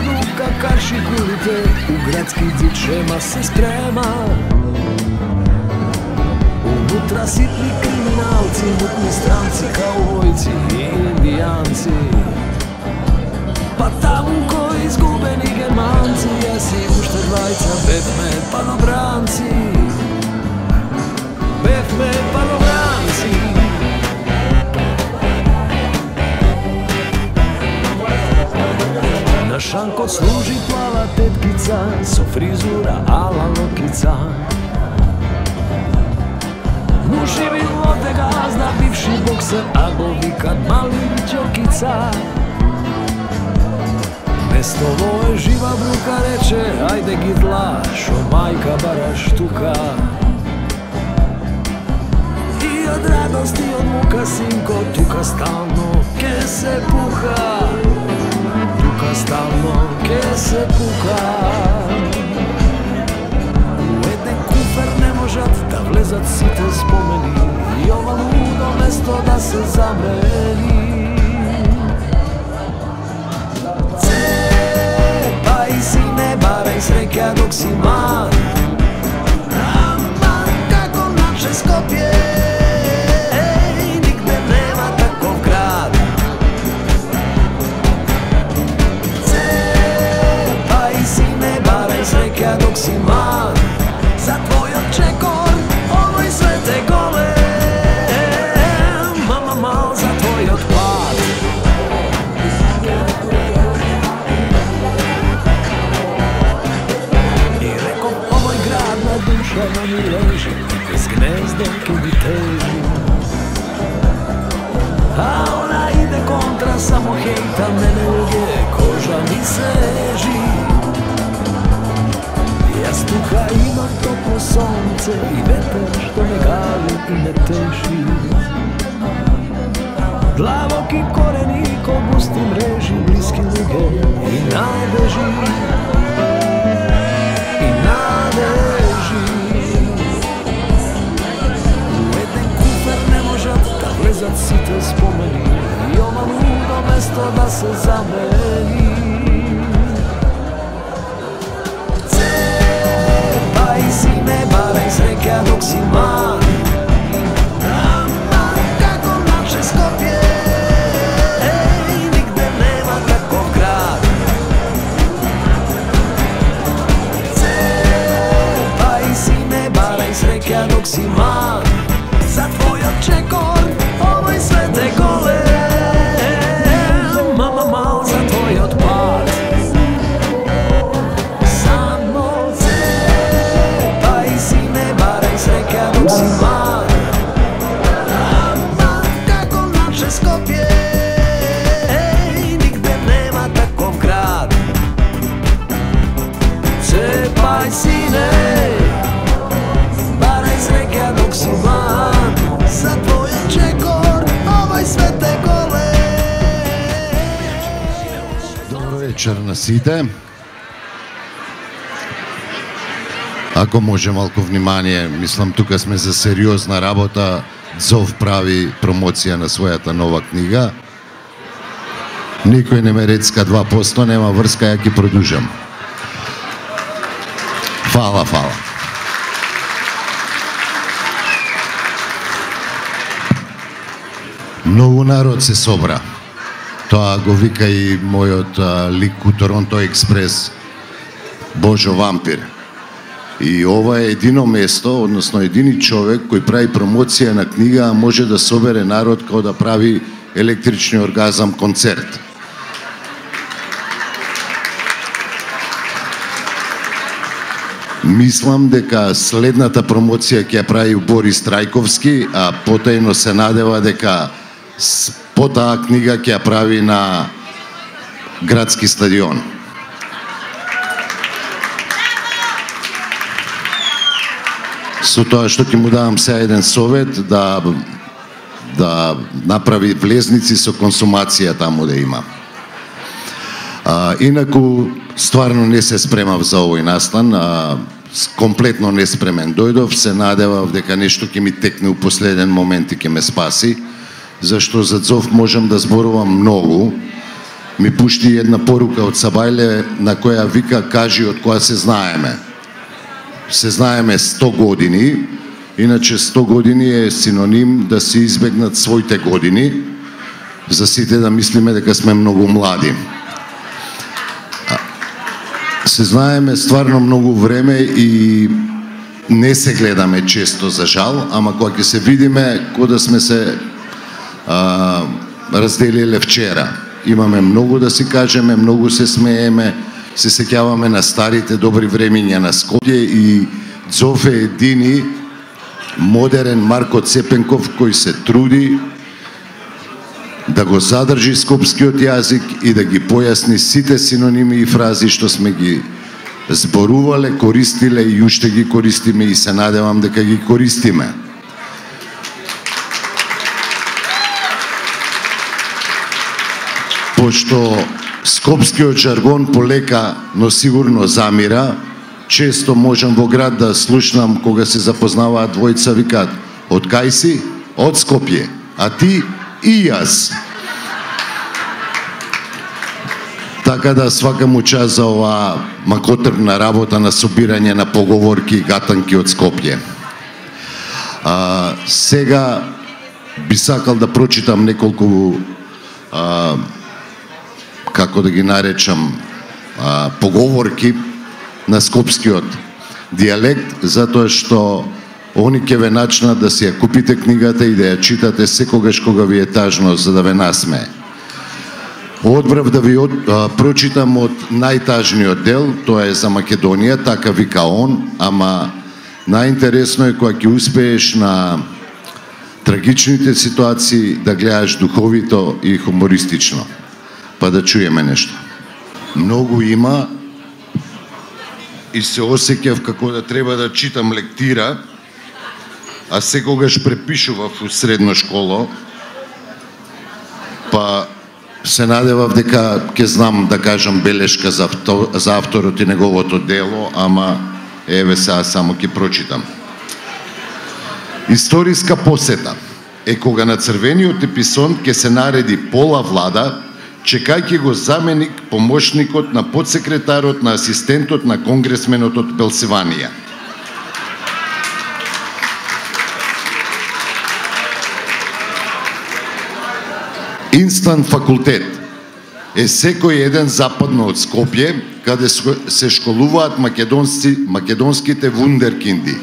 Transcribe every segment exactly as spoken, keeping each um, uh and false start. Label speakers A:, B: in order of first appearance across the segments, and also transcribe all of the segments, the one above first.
A: дука карши кулите, у градски дзичема се спрема. Унутра ситни криминалци, мутни странци, каувојци и индијанци. Па таму кои изгубени германци, јас и уште двајца бевме панобранци. Бевме панобранци. На шанкот служи плава теткица со фризура ала локица. Муши билоте газда, бивши боксер, а го викат мали ќокица. Место е жива брука, рече, ајде ги дла, шо мајка бараш тука. И од радост и од мука, синко, тука стално ке се пука. Тука стално ке се пука. У еден куфер не можат да влезат сите спомени и ова лудо место да се замени. Цепај си, не барај среќа док си млад. Ама како наше Скопје, нигде нема таков град. Цепај си, не барај среќа док си млад. За твојот чекор, овој свет е голем. Мама мал за твојот пат. И реков, овој град на душа на ми лежи, без гнездо ке ми тежи. А она иде контра, само хейта мене луѓе, кожа ми сежи. Јас тука имам топло сонце и ветер што ме гали и не теши. Длабоки корени ко густи мрежи, блиски луѓе и надежи. И надежи. У еден куфер не можат да влезат сите спомени и ова лудо место да се замени. Си не барај среќа док си млад. Ама како наше Скопје, нигде нема таков град. Цепај си, не барај среќа док си млад. За твојот чекор, овој свет е голем. Мама мал за твојот пат. Док си млад. Ама како наше Скопје, нигде нема таков град. Цепај сине, барај среќа док си млад. За твојот чекор, овој свет е голем.
B: Добро вечер на сите. Ако може малку внимание, мислам тука сме за сериозна работа. Зов прави промоција на својата нова книга. Никој не ме рецка два посто, нема врска, ја ќе продужам. Фала, фала. Многу народ се собра. Тоа го вика и мојот лик у Торонто Експрес, Божо Вампир. И ова е едино место, односно едини човек кој прави промоција на книга, а може да собере народ како да прави електрични оргазам концерт. Мислам дека следната промоција ќе ја прави Борис Трајковски, а потајно се надева дека по таа книга ќе ја прави на градски стадион. Со тоа што ќе му давам сега еден совет, да да направи влезници со консумација таму да има. А, инаку стварно не се спремав за овој настан, а, комплетно неспремен дојдов, се надевав дека нешто ќе ми текне у последен момент и ќе ме спаси, зашто за Зов можам да зборувам многу, ми пушти една порука од Сабајле на која вика: кажи од која се знаеме. Се знаеме сто години, иначе сто години е синоним да се избегнат своите години, за сите да мислиме дека сме многу млади. Се знаеме стварно многу време и не се гледаме често, за жал, ама кога ќе се видиме, кога да сме се а, разделиле вчера. Имаме многу да си кажеме, многу се смееме, се сеќаваме на старите добри времиња на Скопје и Дзофе едини модерен Марко Цепенков кој се труди да го задржи скопскиот јазик и да ги појасни сите синоними и фрази што сме ги зборувале, користиле и уште ги користиме и се надевам дека ги користиме. Пошто скопскиот жаргон полека, но сигурно замира, често можам во град да слушнам кога се запознаваат двојца, викаат: од кај си? Од Скопје. А ти? И јас. Така да свакам му час за оваа макотрпна работа на собирање на поговорки и гатанки од Скопје. А, сега би сакал да прочитам неколку а, како да ги наречам а, поговорки на скопскиот дијалект, затоа што они ќе ве начнат да си ја купите книгата и да ја читате секогаш кога ви е тажно, за да ве насмее. Одбрав да ви од, а, прочитам од најтажниот дел, тоа е за Македонија, така вика он, ама најинтересно е кога ќе успееш на трагичните ситуации да гледаш духовито и хумористично. Па да чуеме нешто. Многу има и се осеќав како да треба да читам лектира, а секогаш препишував у средно школо, па се надевав дека ќе знам да кажам белешка за, авто, за авторот и неговото дело, ама еве сега само ќе прочитам. Историска посета е кога на црвениот еписон ќе се нареди пола влада, чекајќи го заменик помошникот на подсекретарот на асистентот на конгресменот од Пенсилванија. Инстан факултет е секој еден западно од Скопје, каде се школуваат македонски, македонските вундеркинди.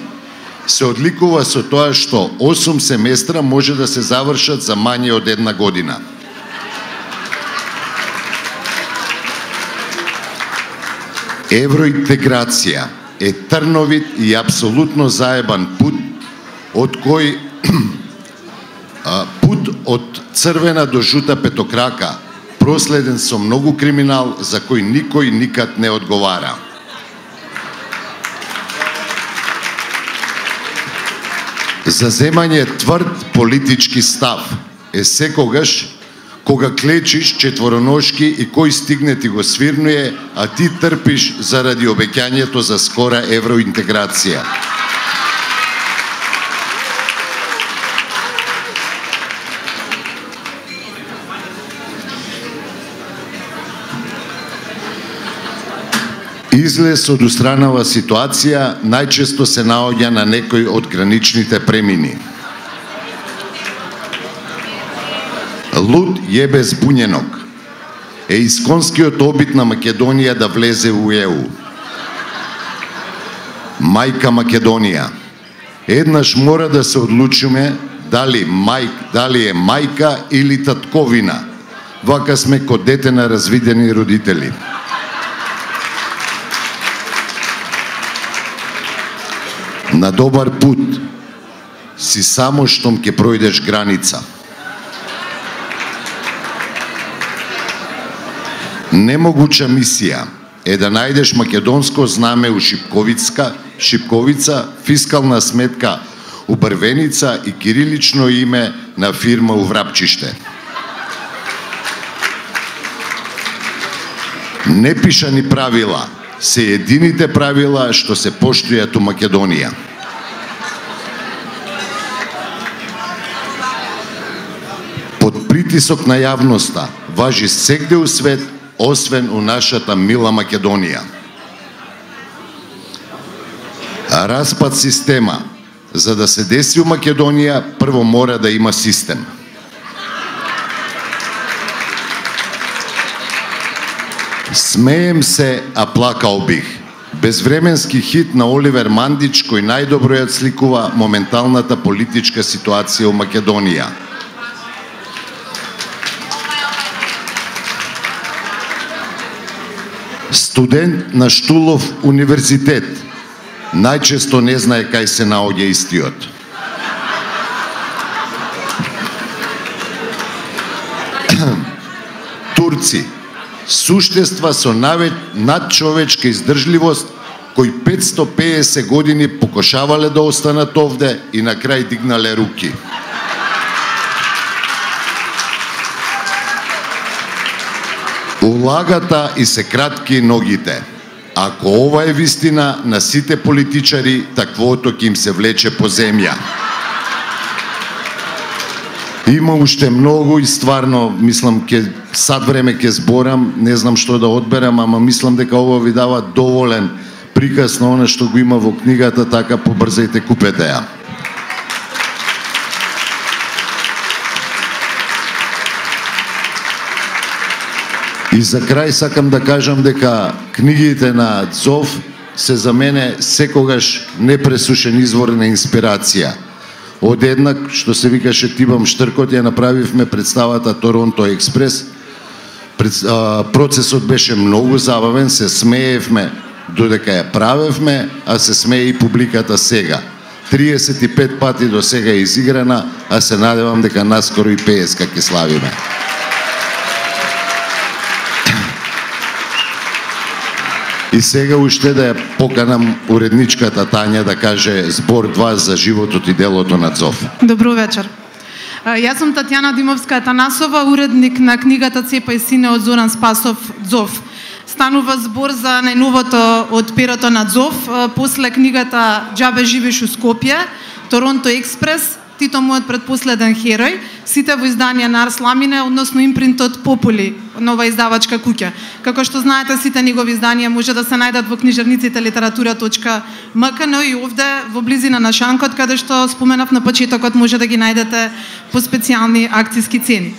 B: Се одликува со тоа што осум семестра може да се завршат за мање од една година. Евроинтеграција е трновит и апсолутно заебан пут, од кој пут од црвена до жута петокрака, проследен со многу криминал за кој никој никад не одговара. Заземање тврд политички став е секогаш кога клечиш четвороношки и кој стигне ти го свирнуе, а ти трпиш заради обеќањето за скора евроинтеграција. Излез од устранава ситуација најчесто се наоѓа на некој од граничните премини. Луд јебе збуњенок е исконскиот обид на Македонија да влезе у Е У. Мајка Македонија. Еднаш мора да се одлучиме дали, мајк, дали е мајка или татковина. Вака сме ко дете на развидени родители. На добар пут си само штом ќе пројдеш граница. Немогуча мисија е да најдеш македонско знаме у Шипковица, Шипковица, фискална сметка у Брвеница и кирилично име на фирма у Врапчиште. Непишани правила се едините правила што се поштујат у Македонија. Под притисок на јавноста, важи сегде у свет, освен у нашата мила Македонија. Распад система. За да се деси у Македонија, прво мора да има систем. Смеем се, а плакал бих. Безвременски хит на Оливер Мандич, кој најдобро ја сликува моменталната политичка ситуација у Македонија. Студент на Штулов универзитет најчесто не знае кај се наоѓа истиот. Турци, суштества со надчовечка издржливост, кои петстотини и педесет години покушавале да останат овде и на крај дигнале руки. Улагата и се кратки ногите. Ако ова е вистина на сите политичари, таквото ќе им се влече по земја. Има уште многу и стварно, мислам, ке, сад време ќе зборам, не знам што да одберам, ама мислам дека ова ви дава доволен приказ на она што го има во книгата, така побрзајте, купете ја. И за крај сакам да кажам дека книгите на Дзов се за мене секогаш непресушен извор на инспирација. Одеднак, што се викаше Тибам Штркот, ја направивме представата Торонто Експрес. Процесот беше многу забавен, се смеевме додека ја правевме, а се смее и публиката сега. триесет и пет пати до сега е изиграна, а се надевам дека наскоро и петдесет ќе славиме. И сега уште да ја поканам уредничката Тања да каже збор два за животот и делото на Дзов.
C: Добро вечер. Јас сум Татјана Димовска-Атанасова, уредник на книгата Цепа и сине од Зоран Спасов Дзов. Станува збор за најновото од перото на Дзов, после книгата Џабе живееш у Скопје, Торонто Експрес, Тито мојот предпоследен херој, сите во изданија на Арс Ламине, односно импринтот Попули, нова издавачка куќа. Како што знаете, сите негови изданија може да се најдат во книжарниците литература точка ем ка, но и овде во близина на Шанкот, каде што споменав на почетокот, може да ги најдете по специјални акциски цени.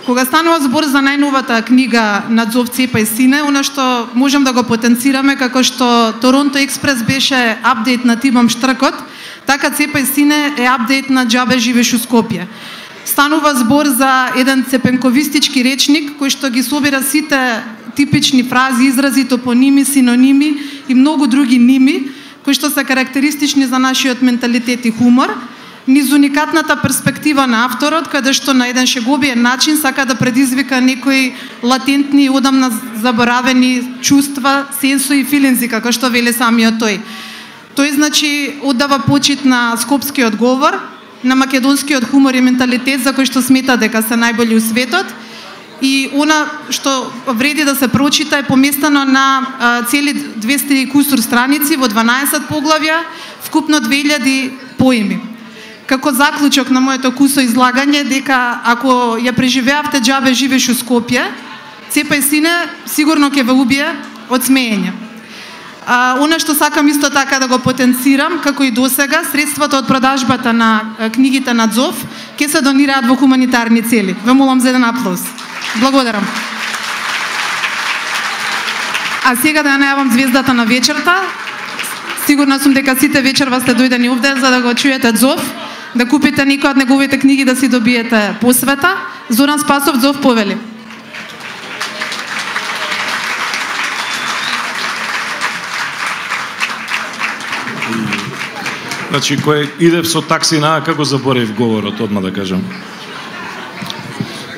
C: Кога станува збор за најновата книга на Дзов Цепа и сине, она што можем да го потенцираме, како што Торонто Експрес беше апдейт на Тибам Штркот, така Цепа и сине е апдейт на Џабе живееш у Скопје. Станува збор за еден цепенковистички речник кој што ги собира сите типични фрази, изрази, топоними, синоними и многу други ними, кои што се карактеристични за нашиот менталитет и хумор, низ уникатната перспектива на авторот, каде што на еден шеговиен начин сака да предизвика некои латентни и одамна заборавени чувства, сенсои и филинзи, како што вели самиот тој. Тој, значи, оддава почит на скопскиот говор, на македонскиот хумор и менталитет, за кој што смета дека се најболи у светот, и она што вреди да се прочита е поместено на а, цели двесте и кусур страници во дванаесет поглавја, вкупно две илјади поеми. Како заклучок на моето кусо излагање, дека ако ја преживеавте Џабе живееш у Скопје, Цепа и сине сигурно ќе ве убие од смеење. А, она што сакам исто така да го потенцирам, како и досега, средствата од продажбата на книгите на Дзов ќе се донираат во хуманитарни цели. Ве молам за еден аплауз. Благодарам. А сега да ја најавам звездата на вечерта. Сигурна сум дека сите вечерва сте дојдени овде за да го чуете Дзов, да купите некои од неговите книги, да си добиете посвета. Зоран Спасов, Дзов повели.
D: Значи, кој идев со такси на како заборев говорот, одма да кажам.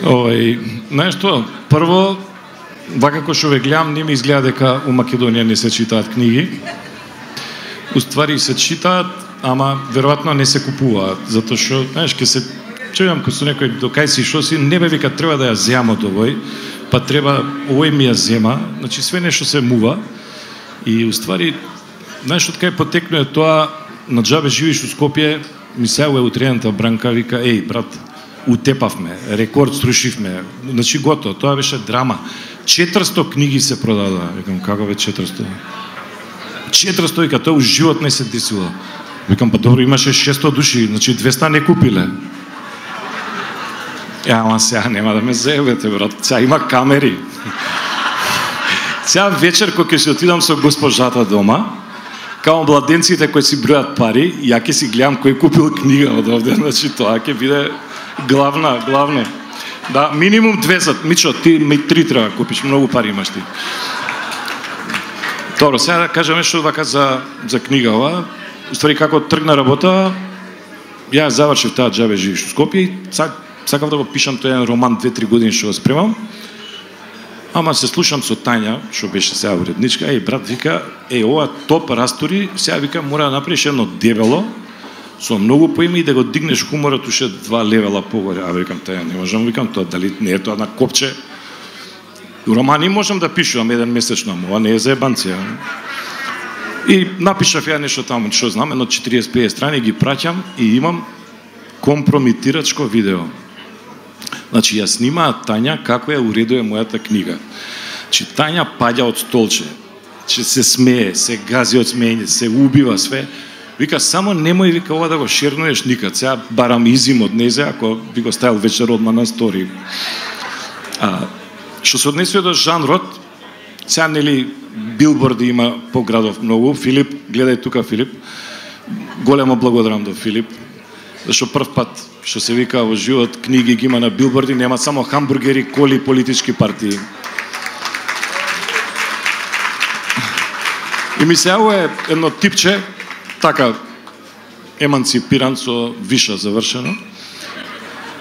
D: Овај, нешто, прво, вака како што ве гледам, не ми изгледа дека у Македонија не се читаат книги. Уствари се читаат, ама веројатно не се купуваат, затоа што, знаеш, ке се чујам како со некој до кај си шо си, не бе вика треба да ја земам од овој, па треба овој ми ја зема, значи све нешто се мува и уствари, знаеш, од кај потекнува тоа на Џабе живееш у Скопје, ми се е утрената Бранка, вика, еј, брат, утепавме, рекорд срушивме, значи готово, тоа беше драма. четиристо книги се продадоа. Викам, како бе четиристо? четиристо, вика, тоа у живот не се десило. Викам, па добро, имаше шестстотини души, значи двеста не купиле. Ја, ама сега нема да ме заебете, брат, сега има камери. Сега вечер, кога ќе се отидам со госпожата дома, као младенците кои си бројат пари, ја ќе си гледам кој купил книга од овде, значи тоа ќе биде главна, главно. Да, минимум двесет. Мичо, ти ми три треба купиш, многу пари имаш ти. Добро, сега да кажам нешто вака за, за книга ова. Уствари, како тргна работа, ја завршив таа Џабе живиш у Скопје и сакав да го пишам тој роман две-три години што го спремам. Ама се слушам со Тања, што беше сега уредничка, еј брат вика, еј ова топ растори, сега вика мора да направиш едно дебело со многу поиме и да го дигнеш хуморот уште два левела погоре. А викам Тања, не можам, викам тоа, дали не е тоа на копче. Романи можам да пишувам еден месечно, ама не е за ебанција. И напишав ја нешто таму, што знам, едно четириесет-петдесет страни ги праќам и имам компромитирачко видео. Значи, ја снимаат Тања како ја уредува мојата книга. Значи, Тања паѓа од столче, че се смее, се гази од смеење, се убива све. Вика, само немој, вика, ова да го шернуеш никад. Сега барам изим од незе, ако би го ставил вечер одма на стори. А, што се однесува до жанрот, сега, нели, билборди има по градов многу. Филип, гледај тука, Филип. Големо благодарам до Филип. Зашто прв пат, што се вика во живот, книги ги има на билборди, нема само хамбургери, коли, политички партии. И ми се е едно типче, така, еманципиран со виша завршено.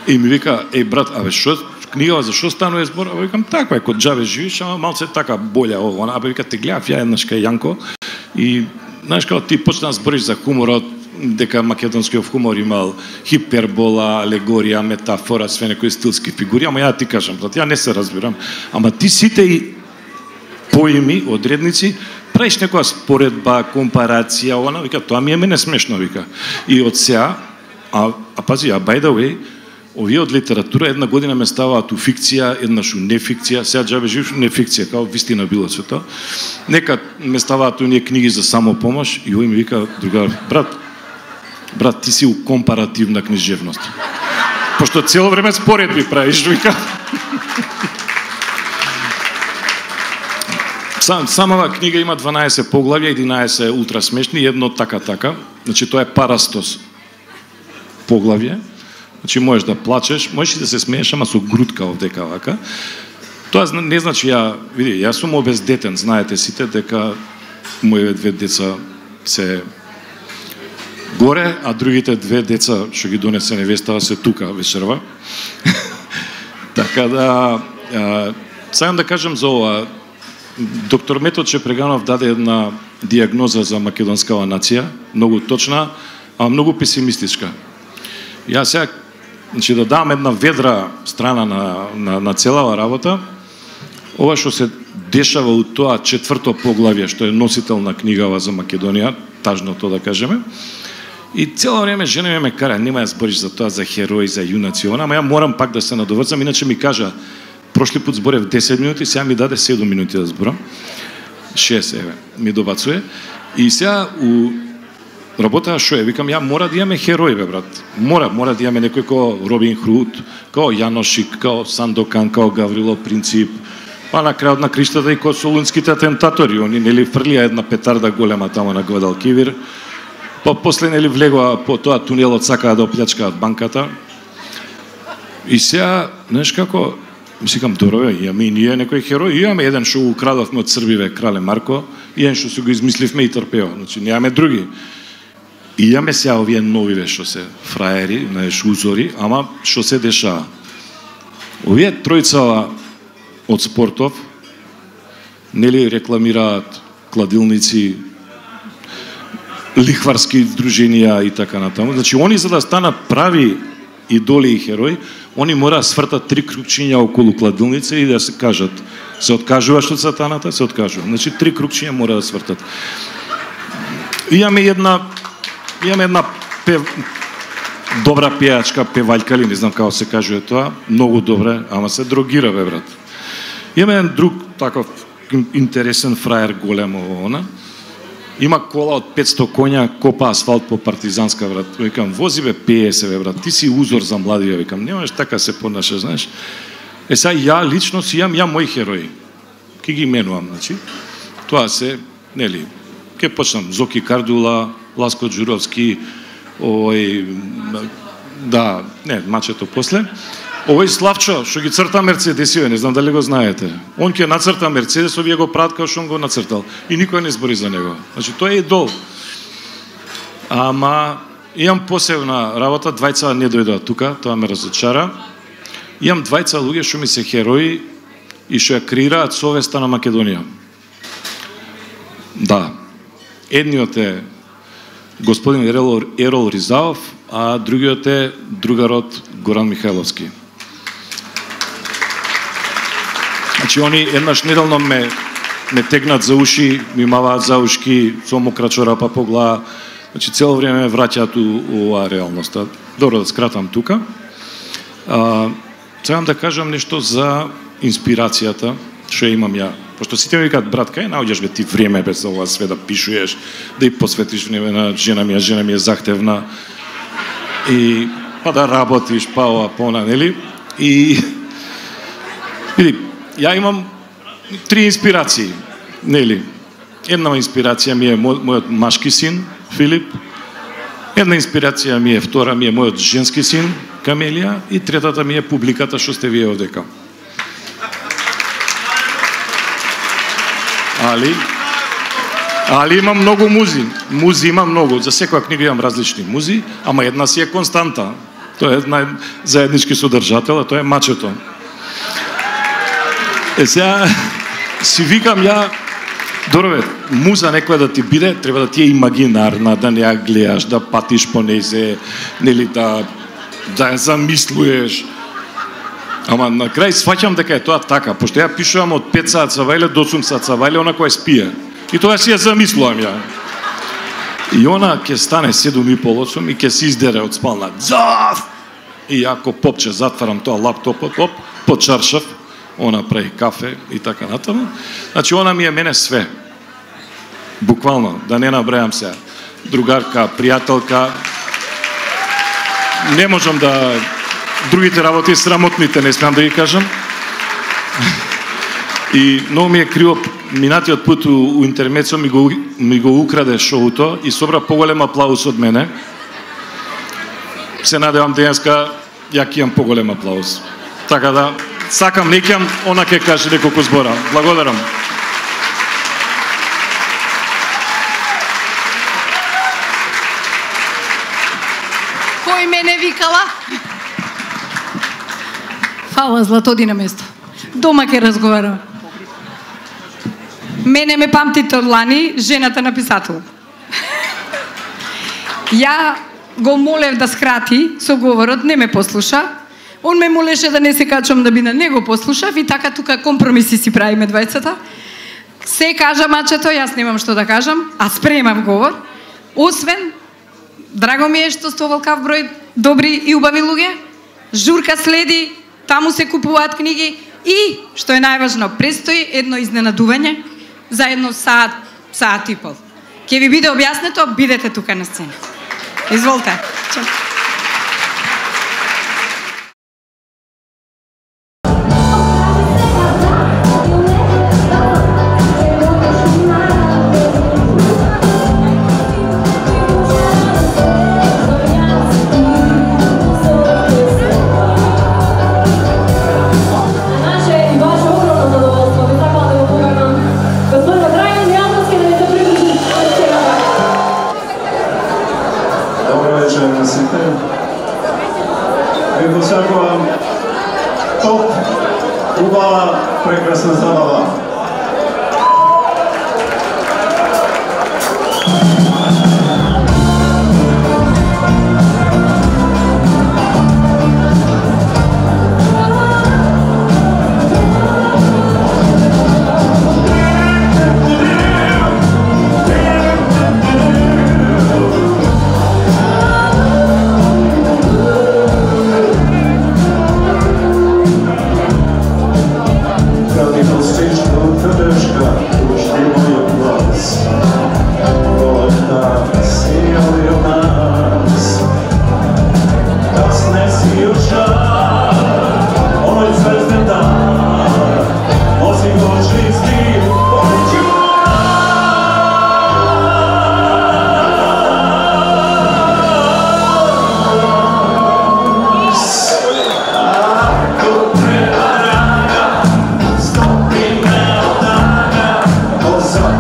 D: И ми вика, еј брат, абе што книгава за што станува збор? Абе викам, таква е, код Џабе живиш, ама малце така болја ова. Абе вика, те гледав ја еднаш кај Јанко и знаеш како ти почна да збориш за хуморот, дека македонскиот хумор имал хипербола, алегорија, метафора, све некои стилски фигури, ама ја ти кажам, брат, ја не се разбирам. Ама ти сите и поими, одредници, правиш некоја споредба, компарација, она, вика, тоа ми е мене смешно, вика. И од сега, а, а пази, а by the way, овие од литература една година ме ставаат у фикција, еднаш у нефикција, сега Џабе живиш у нефикција, као вистина било свето. Нека ме ставаат оние книги за самопомош и овој ми вика, другар, брат, брат, ти си у компаративна книжевност. Пошто цело време споредби правиш, вика. Сам, самава книга има дванаесет поглавја, единаесет ултра смешни, едно така-така. Значи, тоа е парастос поглавје. Значи, можеш да плачеш, можеш и да се смееш, ама со грудка овдека вака. Тоа не значи ја, види, јас сум обездетен, знаете сите, дека моите две деца се горе, а другите две деца што ги донесе невестава се тука вечерва. Така да, сакам да кажам за ова. Доктор Метод Преганов даде една диагноза за македонскава нација, многу точна, а многу песимистичка. Јас сега, значи, да дам една ведра страна на, на, на целава работа, ова што се дешава у тоа четврто поглавје, што е носител на книгава за Македонија, тажното да кажеме, и цело време жена ме кара, нема ја збориш за тоа, за херои, за јунаци, ама ја морам пак да се надоврзам, иначе ми кажа, прошли пат зборев десет минути, сега ми даде седум минути да зборам. шест, еве, ми добацуе. И сега у работа што е, викам, ја мора да имаме херои, бе, брат. Мора, мора да имаме некој како Робин Худ, како Јаношик, како Сандокан, како Гаврило Принцип, па на крајот на криштата и како солунските атентатори, они нели фрлија една петарда голема тамо на Гвадалкивир. Па после нели влегоа по тоа тунелот, сакаа да оплячкаат банката. И сега, знаеш како, мисликам, добро, имаме и ние некој херој, имаме еден што го украдовме од Србиве, Крале Марко, и еден што се го измисливме и трпео, значи немаме други. И имаме сега овие новиве што се фраери, знаеш, узори, ама што се дешава? Овие тројца од спортов, нели рекламираат кладилници, лихварски дружинија и така натаму. Значи, они за да станат прави идоли и херои, они мора да свртат три крукчиња околу кладилница и да се кажат, се откажуваш од сатаната, се откажува. Значи, три крукчиња мора да свртат. Имаме една, имаме една пев... добра пејачка, певаljка или не знам како се кажува тоа, многу добре, ама се дрогира, бе, брат. Има еден друг таков интересен фраер, големо она. Има кола од петсто коња, копа асфалт по Партизанска, брат. Викам, вози бе, пее се, бе, брат. Ти си узор за младија, викам. Немаш така се понаше, знаеш. Е, сега ја лично си имам, ја мои херои. Ке ги именувам, значи. Тоа се, нели, ке почнам Зоки Кардула, Ласко Джуровски, овој, да, не, мачето после. Овој Славчо, што ги црта Мерцедесиве, не знам дали го знаете. Он ќе нацрта Мерцедес, овие го прават како што он го нацртал. И никој не збори за него. Значи, тој е идол. Ама, имам посебна работа, двајца не дојдоа тука, тоа ме разочара. Имам двајца луѓе што ми се херои и што ја креираат совеста на Македонија. Да. Едниот е господин Ерол, Ерол Ризаов, а другиот е другарот Горан Михайловски. Значи, они еднаш неделно ме, ме тегнат за уши, ми маваат за ушки, со мокра чорапа по глава. Значи, цело време ме враќаат у, у оваа реалноста. Добро, да скратам тука. А, Сакам да кажам нешто за инспирацијата, што имам ја. Пошто сите ми викаат, брат, кај наоѓаш бе ти време без ова све да пишуеш, да и посветиш време на жена ми, а жена ми е захтевна. И па да работиш, па ова, па она, нели? И види, ја имам три инспирации, нели? Една инспирација ми е мо, мојот машки син, Филип. Една инспирација ми е, втора ми е мојот женски син, Камелија, и третата ми е публиката што сте вие овдека. Али, али имам многу музи. Музи имам многу. За секоја книга имам различни музи, ама една си е константа. Тоа е една заеднички содржател, а тоа е мачето. Е, сега си викам ја, добро бе, муза некоја да ти биде, треба да ти е имагинарна, да не ја гледаш, да патиш по незе, нели да да ја замислуеш. Ама на крај сваќам дека е тоа така, пошто ја пишувам од пет саат цавајле до осум саат цавајле, она која спие. И тоа си ја замислувам ја. И она ќе стане седум и пол осум и ќе се издере од спална. Зав! И ако попче затварам тоа лаптопот, оп, под чаршав, она прави кафе и така натаму. Значи, она ми е мене све. Буквално, да не набрајам се. Другарка, пријателка. Не можам да... Другите работи, срамотните, не смеам да ги кажам. И многу ми е криво, минатиот пут у, у интермецо ми го, ми го украде шоуто и собра поголем аплаус од мене. Се надевам денеска ја ќе имам поголем аплаус. Така да, сакам, не ќе она ќе каже неколку збора. Благодарам.
E: Кој мене викала? Фала, Златоди на место. Дома ќе разговарам. Мене ме памтите од лани, жената на писател. Ја го молев да скрати со говорот, не ме послуша. Он ме молеше да не се качам да би на него послушав и така тука компромиси си правиме двајцата. Се кажа мачето, јас немам што да кажам, а спремам говор. Освен, драго ми е што сте оволкав број добри и убави луѓе. Журка следи, таму се купуваат книги и, што е најважно, престои едно изненадување за едно саат, саат и пол. Ке ви биде објаснето, бидете тука на сцена. Изволте.
F: Добро вечер на сите.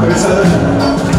F: Председател.